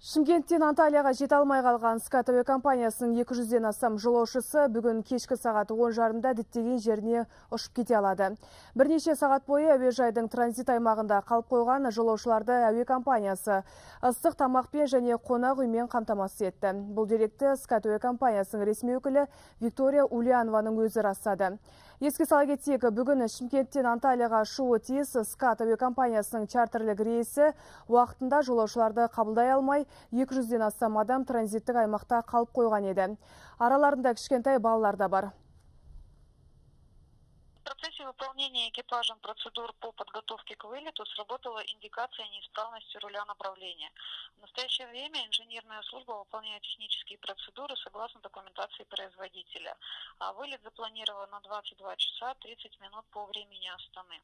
Шымкенттен Анталияға жете алмай қалған Скат әуе компаниясының 200-ден астам жолаушысы бүгін кешкі сағат 10:30-да діттеген жеріне ұшып кете алады. Бірнеше сағат бойы әуежайдың транзит аймағында қалып қойған жолаушыларды әуе компаниясы ыстық тамақпен және қонақ үймен қамтамасыз етті. Бұл деректі Скат әуе компаниясының ресми өкілі Виктория Ульянованың өзі растады. Еске сала кетсек, бүгін Шымкенттен Анталияға ұшуы тиіс Скат әуе компаниясының чартерлік рейсі уақытында жолаушыларды қабылдай алмай, 200-ден астам адам транзиттік аймақта қалып қойған еді. Араларында кішкентай балалар да бар. В процессе выполнения экипажем процедур по подготовке к вылету сработала индикация неисправности руля направления. В настоящее время инженерная служба выполняет технические процедуры согласно документации производителя. А вылет запланирован на 22 часа 30 минут по времени Астаны.